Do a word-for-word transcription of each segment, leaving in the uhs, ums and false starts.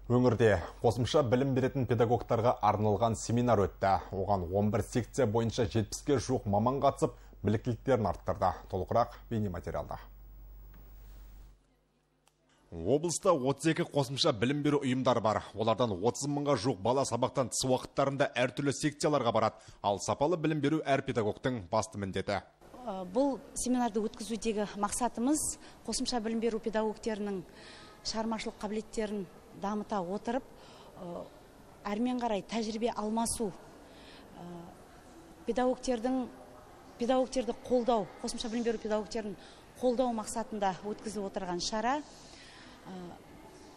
Өңірде қосымша білім беретін педагогтарға арналған семинар өтті. Оған он бір секция бойынша жетпіске жуық маман қатысып, біліктіліктерін арттырды. Толығырақ бейнематериалда. Облыста отыз екі қосымша білім беру ұйымдар бар. Олардан отыз мыңға жуық бала сабақтан тыс уақыттарында әртүрлі секцияларға барады. Ал сапалы білім беру әр педагогтың басты міндеті. Бұл семинарды өткізудегі мақсатымыз қосымша білім беру педагогтерінің шығармашылық қабілеттерін дамыта отырып, әрмен қарай тәжірибе алмасу, педагогтердің педагогтерді қолдау, қосымша білім беру педагогтерін қолдау мақсатында өткізіп отырған шара.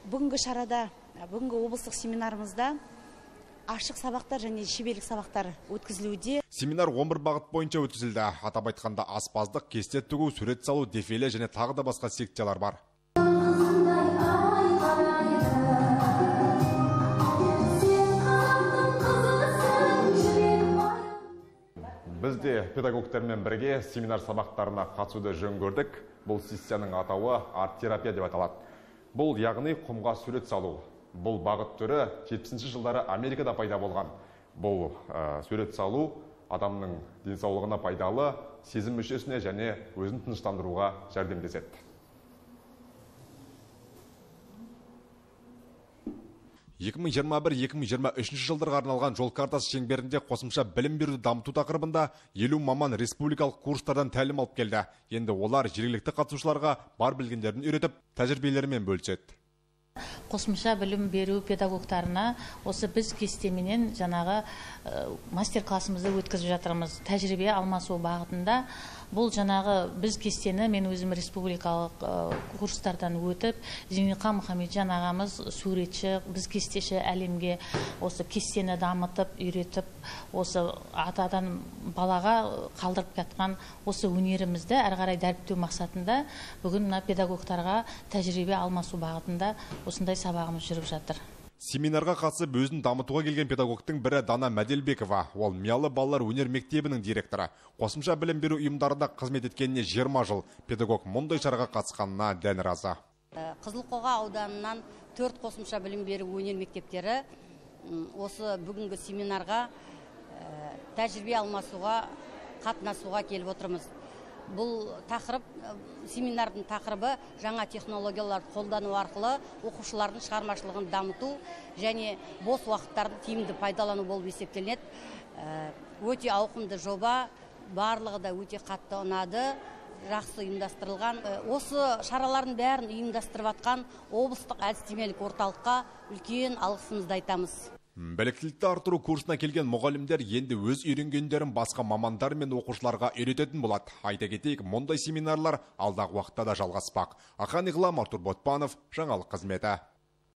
Бүгінгі шарада, бүгінгі облыстық семинарымызда ашық сабақтар және шеберлік сабақтар өткізілуде. Семинар он бір бағыт бойынша өткізілді. Атап айтқанда аспаздық, кесте тігу, сурет салу, дефиле және тағы да басқа секциялар бар. Біз де педагогтермен бірге семинар сабақтарына қатысуды жөн көрдік. Бұл сессияның атауы арт-терапия деп аталады. Бұл яғни құмға сурет салу. Бұл бағыт түрі жетпісінші жылдары Америкада пайда болған. Бұл ә, сурет салу адамның денсаулығына пайдалы, сезім мүшесіне және өзін тыныштандыруға жәрдемдеседі. екі мың жиырма бір екі мың жиырма үшінші жылдарға арналған жол картасы шеңберінде қосымша білім беруді дамыту тақырыбында елу маман республикалық курстардан тәлім алып келді. Енді олар жергілікті қатысушыларға бар білгендерін үйретіп, тәжірибелерімен бөліседі. Қосымша білім беру педагогтарына осы біз кестеменен жаңағы мастер классымызды өткізіп жатырмыз. Тәжірибе алмасу бағытында. Бұл жаңағы біз кестені мен өзім республикалық курстардан өтіп, Зейнеқа Мұхамеджан ағамыз суретші, біз кестеші әлемге осы кестені дамытып, үйретіп, осы атадан балаға қалдырып кеткен осы өнерімізді әрі қарай дәріптеу мақсатында бүгін мына педагогтарға тәжірибе алмасу бағытында осындай сабағымыз жүріп жатыр. Семинарға қатысып өзін дамытуға келген педагогтың бірі Дана Мәделбекова. Ол Миялы балалар өнер мектебінің директоры. Қосымша білім беру ұйымдарында қызмет еткеніне жиырма жыл. Педагог мұндай шараға қатысқанына дән разы. Қызылқоға ауданынан төрт қосымша білім беру өнер мектептері осы бүгінгі семинарға тәжірибе алмасуға, қатынасуға келіп отырмыз. Бұл тақырып, семинардың тақырыбы жаңа технологияларды қолдану арқылы оқушылардың шығармашылығын дамыту және бос уақыттарды тиімді пайдалану болып есептелінеді. Өте ауқымды жоба, барлығы да өте қатты ұнады, жақсы ұйымдастырылған. Осы шаралардың бәрін ұйымдастырып атқан облыстық әдістемелік орталыққа үлкен алғысымызды айтамыз. Біліктілікті артыру курсына келген мұғалімдер енді өз үйренгендерін басқа мамандар мен оқушыларға үйрететін болады. Айта кетейік, мұндай семинарлар алдағы уақытта да жалғаспақ. Ақан Иғлам, Артур Ботпанов, жаңалық қызметі.